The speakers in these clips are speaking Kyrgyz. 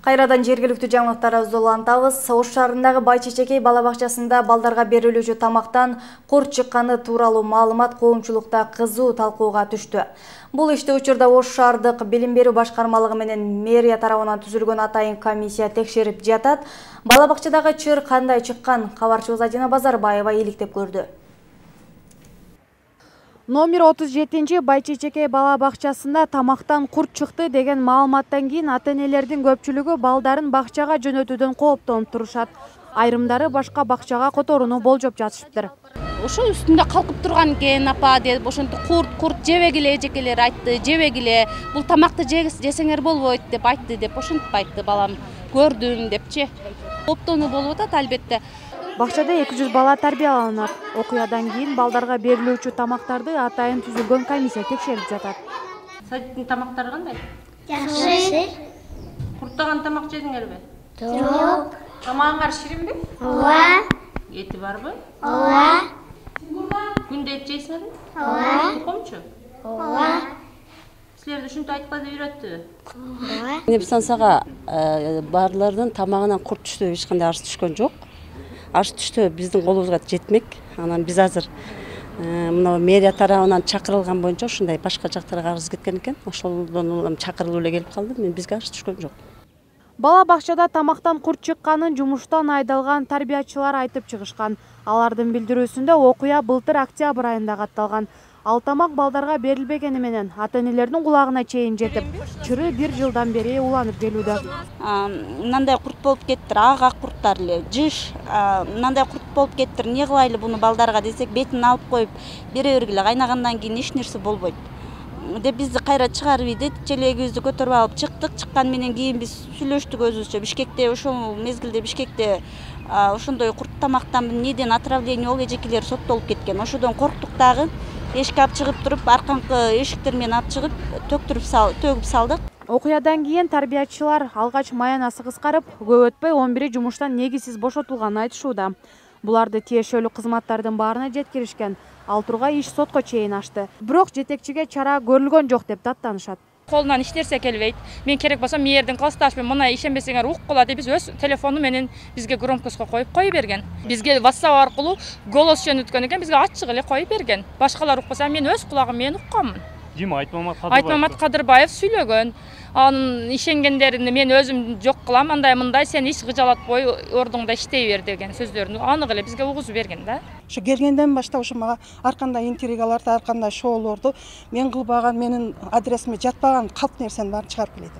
Кайрадан жергиликтүү жаңылыктарыбызды улантабыз. Ош шаарындагы Байчечекей бала бакчасында балдарга берилүүчү тамактан курт чыкканы тууралуу маалымат коомчулукта кызуу талкууга түштү. Бул ишти учурда Ош шаардык билим берүү башкармалыгы менен мэрия тарабынан түзүлгөн атайын комиссия текшерип жатат. Бала бакчадагы чыр кандай чыккан? Кабарчыбыз Адина Базарбаева иликтеп көрдү. Номер 37 Байчечекей бала бакчасында тамактан курт чыкты деген маалыматтан кийин ата-энелердин көпчүлүгү балдарын бакчага жөнөтүүдөн кооптонуп турушат. Айрымдары башка бакчага которууну болжоп жатышыптыр. Ошо үстүндө калкып турган экен апа деп, ошентип курт жебегиле, эжекелер айтты, жебегиле, бул тамакты жесеңер болбойт деп айтты деп ошентип айтты балам. Көрдүм депчи. Кооптонуу болуп атат албетте. Бакчада 200 бала тарбияланат. Окуядан кийин балдарга берилүүчү тамактарды атайын түзүлгөн комиссия текшерип жатат. Садиктин тамактары кандай? Жакшы. Курттаган тамак жедиңерби? Жок. Тамагыңар ширинби? Ооба. Эти барбы? Ооба. Күндө эт жейсиңерби? Ооба. Тукумчу? Ооба. Силерди ушинтип айткан деп үйрөттүбү? Ооба. Небсансага барлардын тамагынан курт түштү, эч кандай арыз түшкөн жок. Арыз түштү биздин колубузга жетмек. Анан биз азыр мына мэрия тарабынан чакырылган боюнча ушундай башка жактарга арыз кеткен экен. Ошолдон чакырылып эле келип калды. Мен бизге арыз түшкөн жок. Бала бакчада тамактан курт чыкканын жумуштан айдалган тарбиячылар айтып чыгышкан. Алардын билдирүүсүндө окуя былтыр октябрь айында катталган. Ал тамак балдарга берилбегени менен ата-энелердин кулагына чейин жетип, чыры 1 жылдан бери уланып келүүдө. Мындай курт болуп кеттир, ак курттар эле, жыш, мындай курт болуп кеттир. Не кылайлы буну балдарга десек, бетин алып коюп бере бергиле, кайнагандан кийин эч нерсе болбойт. Деп бизди кайра чыгарып ийди, челегибизди көтөрүп алып чыктык. Чыккан менен кийин биз сүйлөштүк өзүбүзчө. Бишкекте ошол мезгилде Бишкекте ошондой курт тамактан неден отравление болуп эжекелер соттолуп кеткен. Ошодон корктук дагы. Эшикке алып чыгып туруп, арканкы эшиктер менен алып чыгып, төгүп салдык. Окуядан кийин тарбиячылар алгач маянасы кыскарып, көп өтпөй 11 жумуштан негизсиз бошотулганын айтышууда. Буларды тиешелүү кызматтардын баарына жеткиришкен. Ал тургай иш сотко чейин ашты. Бирок жетекчиге чара көрүлгөн жок деп даттанышат. Колунан иштерсе келбейт. Мен керек болсо мээрдин классташымен мына ишенбесеңер уккула деп биз өз телефону менен бизге громкостко кой берген. Бизге WhatsApp аркылуу голос жөнөткөн экен, бизге ачык эле кой берген. Башкалар укпаса мен өз кулагым менен укканмын. Дима Айтмамат Кадырбаев сүйлөгөн. Анын ишенгендерин мен өзүм жок кылам, андай сен иш кыжалатпой ордуңда иштей бер деген сөздөрүн анык эле бизге угузуп берген да. Ошо келгенден баштап ошо мага ар кандай интригаларды, ар кандай шоулорду мен кылбаган, менин адресиме жатпаган калп нерсени баарын чыгарып келет.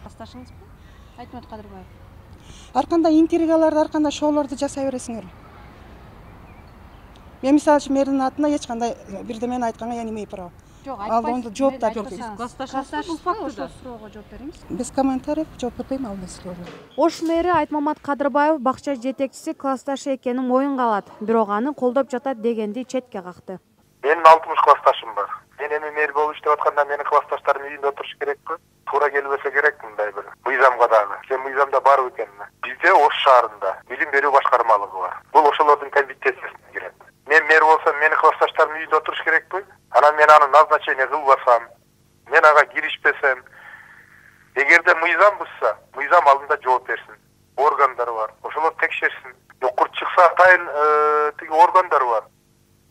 Классташыңызбы? Айтмамат Кадырбаев. Ар кандай интригаларды, ар кандай шоулорду жасай бересиңер. Мен мисалы үчүн мэрдин атына эч кандай бирдемени айтканга я не имею права. Ал онда жооп да бербейт. Классташыңыз фактыда суроого жооп бериңиз. Без комментариев жооп бербейм ал нерсеге. Ош мэри Айтмамат Кадырбаев бакча жетекчиси классташы экенин моюнга алат, бирок аны колдоп жатат дегенди четке какты. Менин 60 классташым бар. Мен эми мэр болуп иштеп атканда менин классташтарым үйүндө отуруш керекпи? Туура келбесе керек мындай бир мыйзамга дагы. Сен мыйзамда бар экен. Бизде Ош шаарында билим берүү башкармалыгы бар. Бул ошолордун компетенциясына кирет. Мен мэр болсом, менин классташтарым үйүндө отуруш керекпи? Анан мен аны назначение кылбасам, мен ага киришпесем, эгерде мыйзам бузса, мыйзам алдында жооп берсин. Органдар бар, ошолор текшерсин. Курт чыкса атайын тиги органдар бар.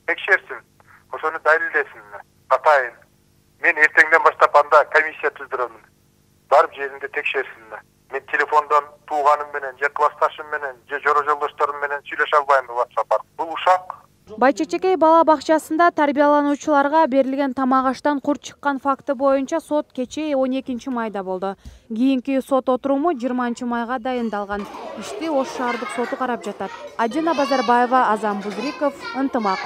Текшерсин. Ошону далилдесин. Атайын. Мен эртеңден баштап анда комиссия түздүрөмүн. Барып жеринде текшерсин. Мен телефондон тууганым менен, же классташым менен, же жора жолдошторум менен сүйлөшө албайм WhatsApp аркылуу. Бул ушак. Байчечекей бала бакчасында тарбиялануучуларга берилген тамак аштан курт чыккан факты боюнча сот кечээ 12 майда болду. Кийинки сот отуруму 20 майга дайындалган. Ишти Ош шаардык соту карап жатат. Адина Базарбаева, Азам Бузриков, Ынтымак.